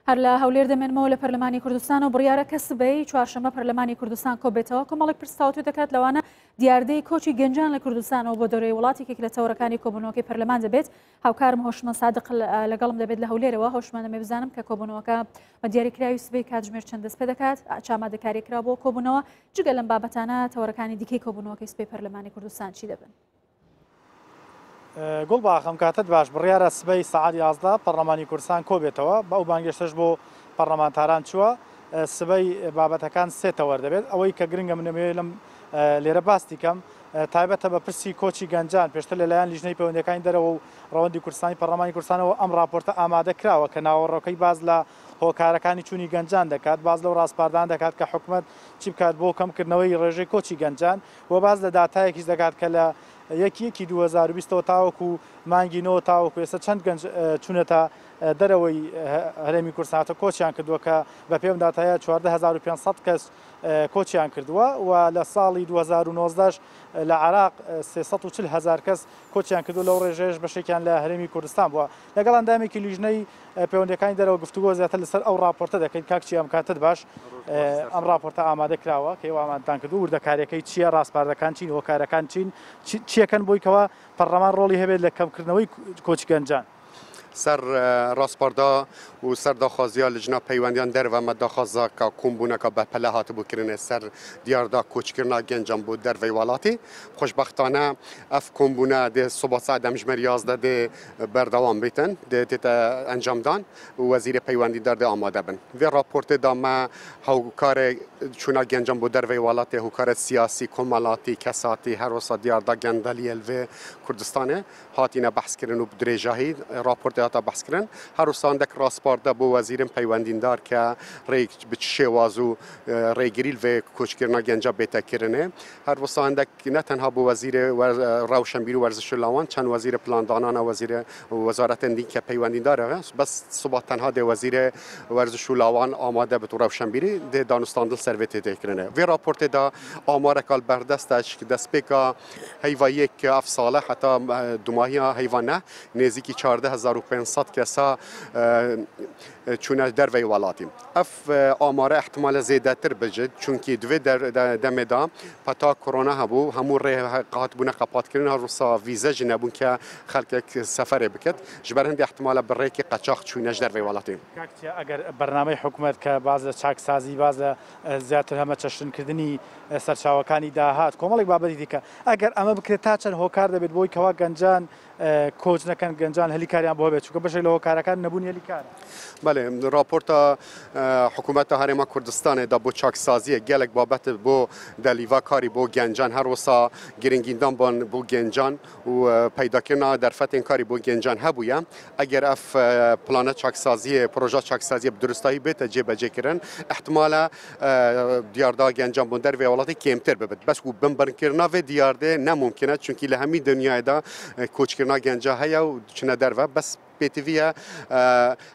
هەر لە هەولێر دەمێنمەوە لە پەرلەمانی کوردستان و بڕیارە کە سبەی چوارشەممە پەرلەمانی کوردستان کۆبێتەوە کۆمەڵێک پرس تاوتوێ دەکات لەوانە دیاردەی کۆچی گەنجان لە کوردستانەوە بۆ دەرەوەی وڵات یەکێک لە تەوەرەکانی کۆبوونەوەکەی پەرلەمان دەبێت هاوکارم هۆشمەند سادق لەگەڵم دەبێت لە هەولێرەوە هۆشمەند دەمێ بزانم کە کۆبوونەوەکە بە دیاریکراوی سبەی کاتژمێر چەند دەست پێ دەکات چ ئامادەکاری کرا بۆ کۆبوونەوە جگە لەم بابەتانە تەوەرەکانی دیکەی کۆبوونەوەکەی سبەی پەرلەمانی کوردستان چی دەبن؟ گوڵباخ ئەم کاتەت باش، بڕیارە سبەی سەعات 11 پەڕلەمانی کوردستان کۆبێتەوە، بە ئەو بانگێشتەش بۆ پەڕلەمانتاران چووە، سبەی بابەتەکان سێ تەوەر دەبێت، ئەوەی کە گرنگە من دەمەوێت لەم لێرە باستی کەم تایبەتە بە پرسی کۆچی گەنجان، پێشتر لەلایەن لیژنەی پەیوەندیەکانی دەرەوە و ڕەوەندی کوردستانی پەڕلەمانی کوردستانەوە ئەم ڕاپۆرتە ئامادە کراوە کە ناوەڕۆکەی باس لە هۆکارەکانی چوونی گەنجان دەکات، باس لەو ڕاسپاردانە دەکات کە حکومەت چی بکات بۆ کەمکردنەوەی ڕێژەی کۆچی گەنجان. و باس لە داتایەکیش دەکات کە لە یەکی یەکی 2020 ەوە تاوەکو مانگی نۆ تاوەکو ئێستا چەند گەنج چوونەتە دەرەوەی هەرێمی کوردستان کۆچیان کردووە کە بە پێم داتایە 14500 کەس کۆچیان کردووە و لە ساڵی 2019 لە عراق 340 هزار کەس کۆچیان کردو لەو ڕێژەیەش بەشێکیان لە هەرێمی کوردستان بووە لەگەڵ ئەندامێکی لیژنەی پەیوەندیەکانی دەرەوە گفتوگۆ زیاتر لەسەر ئەو ڕاپۆرتە دەکەین. کاک چیا ئەم کاتەت باش. ئەم ڕاپۆرتە ئامادە کراوە کە ئێوە ئامادەتان کردووە، وردەکاریەکەی چییە، ڕاسپاردەکان چین، هۆکارەکان چین، چیەکەن بۆی کەوا پەڕلەمان ڕۆڵی هەبێت لە کەمکردنەوەی کۆچی گەنجان؟ سەر ڕاسپاردە و سەر داخوازیا لجنە پەیوەندیان دەرڤە مە داخوازا کە کۆمبوونەکە بە پەلە هاتبوو کرنێ سەر دیاردا کۆچکردنا گەنجان بۆ دەرڤەی وەڵاتی. خۆشبەختانە ئەف کۆمبوونە دێ سوبا سەعات دەمژمێر 11 دێ بەردەوام بیتن دێ تێتە ئەنجامدان و وەزیرێ پەیوەندیدار دێ ئامادە بن. ڤێ ڕاپۆرتێ دا مە هوکارێ چوونا گەنجان بۆ دەرڤەی وەڵاتێ هوکارێ سیاسی، کۆمەڵاتی، کەساتی هەروسا دیاردا گەندەلیێ ڤێ کوردستانێ هاتینە بەحس کرن و درێژاهی ڕاپۆرتێ هاتە بەحس کرن. هەروسا هەندەک ڕاسپاردە بۆ وەزیرن پەیوەندیندار کە ڕێ بچ شێواز و ڕێگری ڤێ کۆچکردنا گەنجا بێتە کرنێ. هەروسا هەندەک نە تەنها بۆ وەزیرێ ڕەوشەنبیر و وەرزش و لاوان چەند وەزیرێ پلاندانانە وەزیرێ وەزارەتێن دین کە پەیوەندیدارە بەس سوبا تەنها دێ وەزیرێ وەرزش و لاوان ئامادە بت و ڕەوشەنبیری دێ دانوستاندن سەر vê tê kirine. Vê raportê da amareka li berdest e ji destpêka heyva yek ev sale heta dumahiya heyva neh nêzîkî 14500 kesa çûne derveyî welatî. Ev amare ihtimale zêdetir bicit çunkî di vê demê de peta korona hebû hemû rê hatibûne qepatkirin her wisa vîze jî nebûn ke xelkek seferê biket ji ber hindê ihtimale bi rêkê qeçax çûne ji derveyî welatê. کاک چیا ئەگەر بەرنامەی حکومەت کە باس لە چاکسازی باس لە زیاتر هەمەچەشنکردنی سەرچاوەکانی داهات کۆمەڵێک بابەتی دیکە ئەگەر ئەمە بکرێت تا چەند هۆکار دەبێت بۆی کەوا گەنجان کۆچ نەکەن گەنجان هەلی کاریان بۆ هەبێت چونکە بەشێک لە هۆکارەکان نەبوونی هەلی کارە. بەلێ راپۆرتا حکوومەتە هەرێما کوردستانێ دا بۆ چاکسازیە گەلێک بابەت بۆ دەلیڤا کاری بۆ گەنجان هەروسا گرنگیدان بۆن بۆ گەنجان و پەیداکردنا دەرفەتێن کاری بۆ گەنجان هەبوویە ئەگەر ئەف پلانە چاکسازیە پرۆژە چاکسازیە بدروستایی بێتە جێبەجێکردن احتمالە دیاردا گەنجان بۆ دەرەوەی وڵاتی کێمتر ببێت بەس و بنبڕکردنا vê دیاردێ نەممکنە چونکی لە هەمی دنیایدا کۆچکردنا گەنجا هەیە و چنە دەرەوە بەس پێتیڤە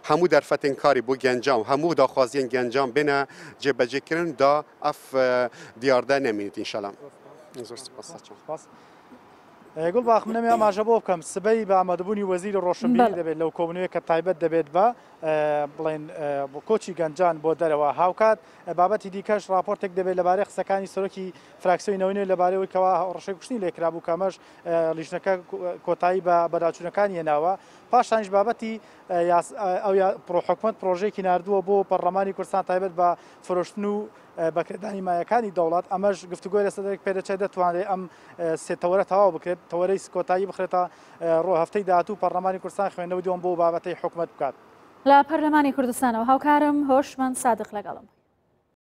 هەموو دەرفەتێن کاری بۆ گەنجان و هەموو داخوازیên گەنجان بێنە جێبەجێکردن دا ئەف دیاردە نەمێنێت ئینشەڵا. زۆر سپاس. سپاس. گوڵباخ منەمێ ئاماژە بۆ بکەم سبەی بە ئامادەبوونی وەزیری ڕۆشنبیری دەبێت لەو کۆبوونەوەی کە تایبەت دەبێت بە بڵێن کۆچی گەنجان بۆ دەرەوە هاوکات بابەتی دیکەش راپۆرتێک دەبێت لەبارەی قسەکانی سەرۆکی فراکسیۆنی نەوەی نوێ لەبارەی ئەوەی کەوا هەڕەشەی کوشتنی لێکرابوو کە ئەمەش لیژنەکە کۆتایی بە بەداچوونەکانی هێناوە پاشانیش بابەتی ئەو حکومەت پرۆژەیەکی ناردووە بۆ پەرلەمانی کوردستان تایبەت بە فرۆشتن و بەکرێدانی مایەکانی دەوڵەت ئەمەش گفتوگۆی لەسەر دەکرێت پێدەچێت دەتوانرێت ئەم سێ تەوەرە تەواو بکرێت تەوەرەی کۆتایی بخرێتە ڕۆ هەفتەی داهاتوو پەرلەمانی کوردستان خوێندنەوەی دووەم بۆ بابەتەی حکومەت بکات. لە پەرلەمانی کوردستانەوە هاوکارم هۆشمەند سادق لەگەڵم.